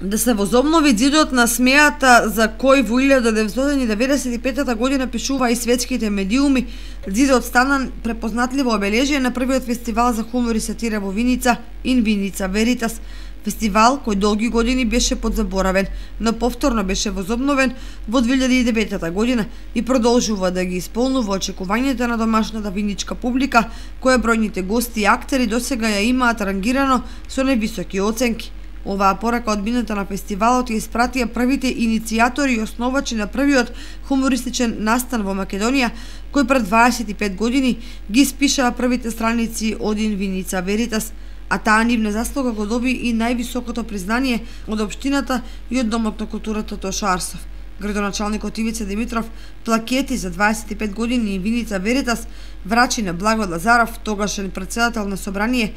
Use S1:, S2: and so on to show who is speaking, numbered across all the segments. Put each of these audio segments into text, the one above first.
S1: Да се возобнови ѕидот на смејата за кој во 1995 година пишува и светските медиуми, ѕидот стана препознатливо обележие на првиот фестивал за хумор и сатира во Виница, In Vinica Veritas, фестивал кој долги години беше подзаборавен, но повторно беше возобновен во 2009 година и продолжува да ги исполнува очекувањата на домашната виничка публика, која бројните гости и актери досега ја имаат рангирано со највисоки оценки. Оваа порака од бината на фестивалот ја испратија првите иницијатори и основачи на првиот хумористичен настан во Македонија, кој пред 25 години ги испишаа првите страници од In Vinica Veritas, а таа нивна заслуга го доби и највисокото признание од општината и од Домот на културата Тоша Арсов. Градоначалникот Ивица Димитров плакети за 25 години In Vinica Veritas врачи на Благо Лазаров, тогашен председател на собрание,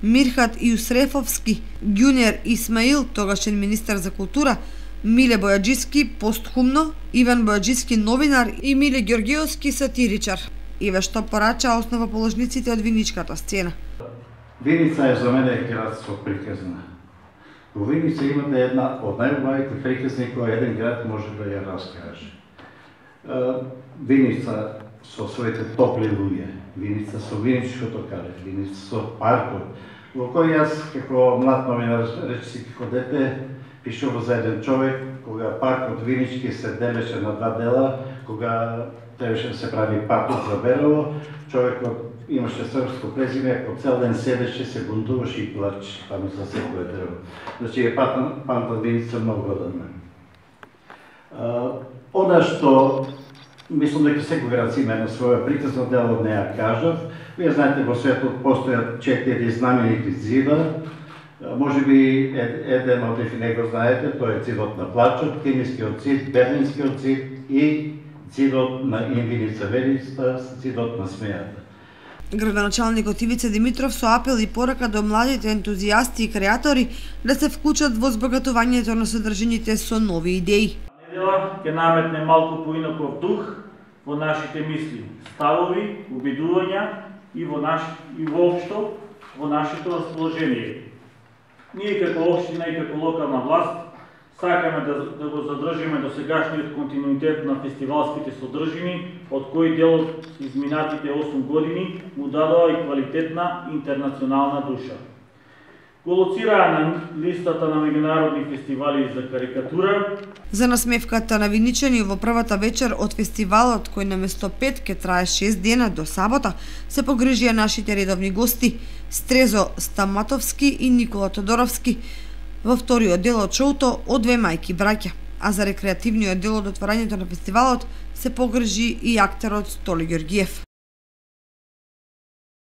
S1: Мирхат Јусрефовски, Ѓунер Исмаил, тогашен министер за култура, Миле Бојаджиски, постхумно, Иван Бојаджиски, новинар и Миле Ѓоргиевски, сатиричар. Еве што порача основоположниците од виничката сцена.
S2: Виница е за мене град со приказна. Во Виница имате една од најубавите приказни која еден град може да ја раскаже. Виница со своите топли луѓе, Виница со виничкото кале, Виница со паркот, во кој јас како млад новинар, речиси како дете, пишував за еден човек, кога паркот Винички се делеше на два дела, кога требаше да се прави паркот за Белово, човекот имаше српско презиме, по цел ден седеше, се бунтуваше и плачеше, таму за секој дрво. Значи е памтат Виница многу од мене. Она што мислам дека секој град си има едно своја приказна, дел од неја кажав. Вие знаете, во светот постојат 4 знаменити ѕида. Може би еден од нив не го знаете, тој е ѕидот на плачот, Кемискиот ѕид, Берлинскиот ЗИД и ձидот на In Vinica Veritas, ձидот на смејата.
S1: Градоначалникот Ивица Димитров со апел и порака до младите ентузијасти и креатори да се вклучат во збогатувањето на содржините со нови идеи.
S3: Недела ќе наметне малку поинаков дух во нашите мисли, ставови, обидувања и воопшто во нашето расположение. Ние како општина и како локална власт сакаме да го задржиме досегашниот континуитет на фестивалските содржини, од кој делот изминатите 8 години му дадоа и квалитетна интернационална душа. Го лоцираа на листата на меѓународни фестивали за карикатура.
S1: За насмевката на виничани во првата вечер од фестивалот, кој наместо 5 ќе трае 6 дена до сабота, се погрижија нашите редовни гости Стрезо Стаматовски и Никола Тодоровски. Во вториот дел од шоуто од две мајки браќа, а за рекреативниот дел од отворањето на фестивалот се погрижи и актерот Столи Ѓоргиев.